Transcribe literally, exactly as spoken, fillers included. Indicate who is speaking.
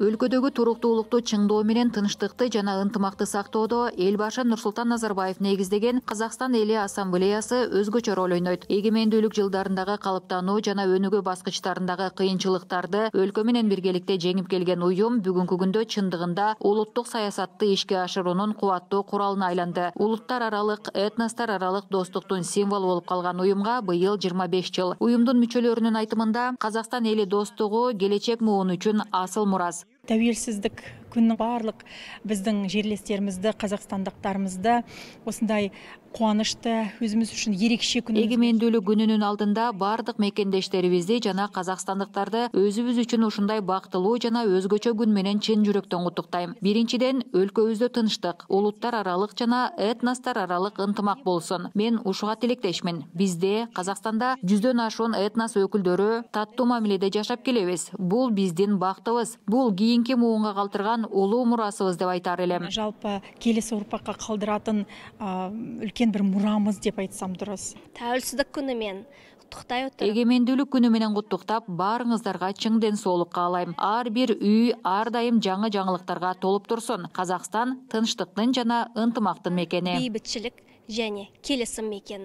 Speaker 1: Өлкөдөгү туруктуулукту чыңдоо менен тынчтыкты жана ынтымакты сактоодо эл башы Нурсултан Назарбаев негиздеген Казакстан эли ассамблеясы өзгөчө роль ойнойт. Эгемендүүлүк жылдарындагы калыптануу жана өнүгүү баскычтарындагы кыйынчылыктарды өлкө менен биргеликте жеңип келген уюм бүгүнкү күндө чындыгында улуттук саясатты ишке ашыруунун кубаттуу куралына айланды. Улуттар аралык, этностор аралык достуктун символу болуп калган уюмга быйыл жыйырма беш жыл. Уюмдун мүчөлөрүнүн айтымында, Казакстан эли достугу келечек муун үчүн асыл мурас.
Speaker 2: Тәуелсіздік күннің барлық біздің жерлестерімізді, қазақстандықтарымызды осындай қуанышты, өзіміз үшін ерекше күн.
Speaker 1: Эгемендүүлүк күнүнүн алдында бардык мекендештерибизди жана казакстандыктарды өзүбүз үчүн ушундай бактылуу жана өзгөчө күн менен чын жүрөктөн куттуктайм. Биринчиден, өлкөбүздө тынчтык, улуттар аралык жана этностор аралык ынтымак болсун. Мен ушуга тилектешмин. Бизде, Казакстанда жүздөн ашуун этнос өкүлдөрү таттуу мамиледе жашап келебиз. Бул биздин бактыбыз. Бул кийинки муунга калтырган улуу мурасыбыз деп айтар элем.
Speaker 2: Жалпы келесі урпакка калдыратын үлкен бір мурамыз деп айтсам дұрыс.
Speaker 3: Тәуелсіздік күні мен куттуктай отурам.
Speaker 1: Эгемендүүлүк күнү менен куттуктап, баарыңыздарга чың ден соолук каалайм. Ар бир үй ар дайым жаңы жаңылыктарга толуп турсун. Казакстан тынчтыктын жана ынтымактын мекени.
Speaker 3: Бейбитчилик және келесим мекени.